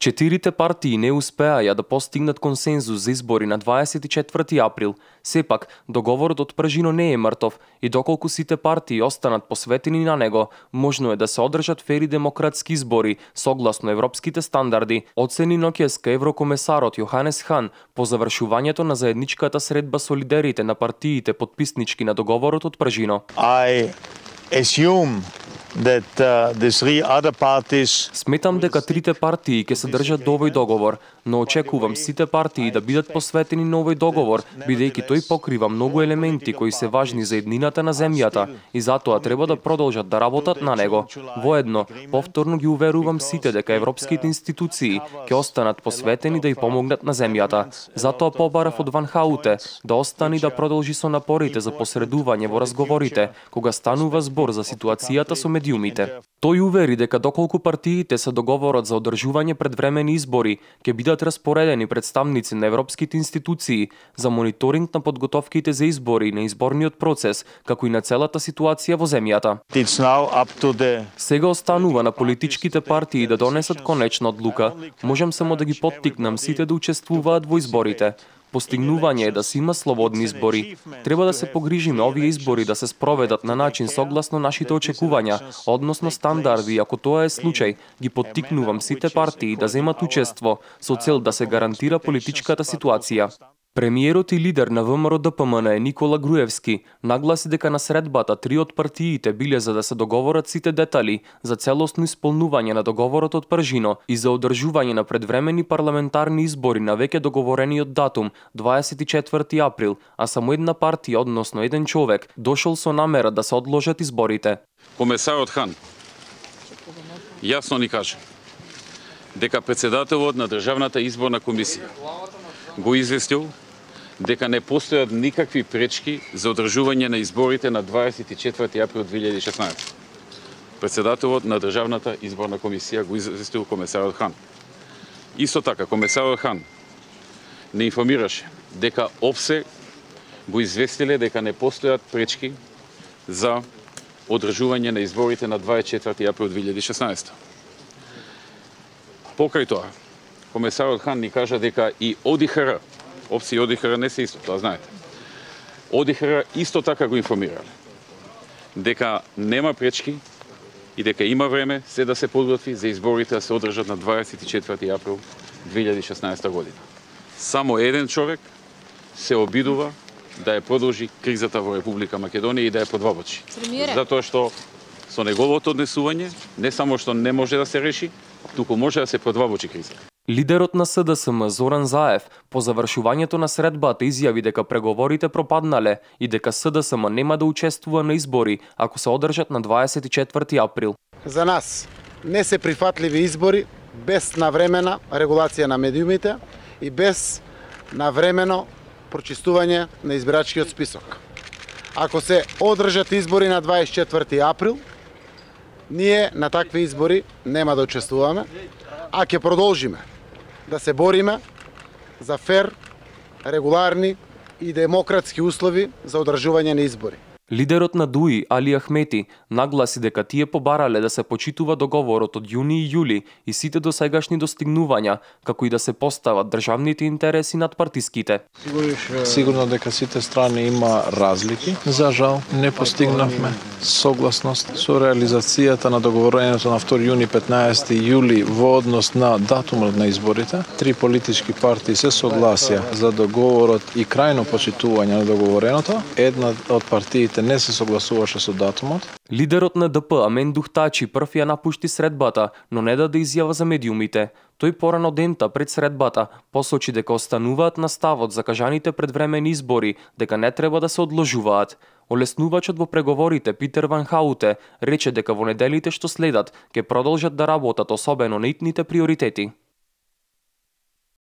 Четирите партии не успеаја да постигнат консензус за избори на 24 април. Сепак, договорот од пржино не е мртов и доколку сите партии останат посветени на него, можно е да се одржат фери демократски избори согласно европските стандарди, оцени ноќеска еврокомесарот Јоханес Хан по завршувањето на заедничката средба со лидерите на партиите потписнички на договорот од пржино. Сметам дека трите партии ќе се држат до овој договор, но очекувам сите партии да бидат посветени на овој договор, бидејќи тој покрива многу елементи кои се важни за еднината на земјата и затоа треба да продолжат да работат на него. Воедно, повторно ги уверувам сите дека европските институции ќе останат посветени да ја помогнат на земјата. Затоа побарав од Ван Хауте да остани да продолжи со напорите за посредување во разговорите, кога станува збор за ситуацијата со медиумите. Тој увери дека доколку партиите се договорат за одржување предвремени избори, ќе бидат распоредени представници на европските институции за мониторинг на подготовките за избори и на изборниот процес, како и на целата ситуација во земјата. Сега останува на политичките партии да донесат конечна одлука. Можам само да ги поттикнам сите да учествуваат во изборите. Постигнување е да се има слободни избори. Треба да се погрижиме овие избори да се спроведат на начин согласно нашите очекувања, односно стандарди, ако тоа е случај, ги поттикнувам сите партии да земат учество со цел да се гарантира политичката ситуација. Премиерот и лидер на ВМРО-ДПМН Никола Груевски нагласи дека на средбата три од партиите биле за да се договорат сите детали за целосно исполнување на договорот од пржино и за одржување на предвремени парламентарни избори на веќе договорениот датум 24 април, а само една партија, односно еден човек, дошол со намера да се одложат изборите. Комесарот Хан јасно ни каже дека председателот на Државната изборна комисија го известил дека не постојат никакви пречки за одржување на изборите на 24 април 2016. Председателот на Државната изборна комисија го известил комесарот Хан. Исто така, комесарот Хан не информираше дека ОПСЕ го известиле дека не постојат пречки за одржување на изборите на 24 април 2016. Покрај тоа, комесарот Хан ни кажа дека и ОДИХР, ОПСЕ и ОДИХР не се исто, тоа знаете. ОДИХР исто така го информирале дека нема пречки и дека има време се да се подготви за изборите да се одржат на 24 април 2016 година. Само еден човек се обидува да ја продолжи кризата во Република Македонија и да ја подвабочи. Затоа што со неговото однесување не само што не може да се реши, туку може да се подвабочи кризата. Лидерот на СДСМ Зоран Заев по завршувањето на средбата изјави дека преговорите пропаднале и дека СДСМ нема да учествува на избори ако се одржат на 24 април. За нас не се прифатливи избори без навремена регулација на медиумите и без навремено прочистување на избирачкиот список. Ако се одржат избори на 24 април, ние на такви избори нема да учествуваме, а ќе продолжиме да се бориме за фер, регуларни и демократски услови за одржување на избори. Лидерот на ДУИ Али Ахмети нагласи дека тие побарале да се почитува договорот од јуни и јули и сите досегашни достигнувања, како и да се постават државните интереси над партиските. Сигурно дека сите страни има разлики. За жал не постигнавме согласност со реализацијата на договорењето на 2 јуни 15 јули во однос на датумот на изборите. Три политички партии се согласија за договорот и крајно почитување на договореното. Една од партиите не се согласуваше со датумот. Лидерот на ДП Амен Духтачи прв ја напушти средбата, но не даде изјава за медиумите. Тој порано дента пред средбата посочи дека остануваат на ставот за кажаните предвремени избори, дека не треба да се одложуваат. Олеснувачот во преговорите Питер Ван Хауте рече дека во неделите што следат ќе продолжат да работат особено на итните приоритети.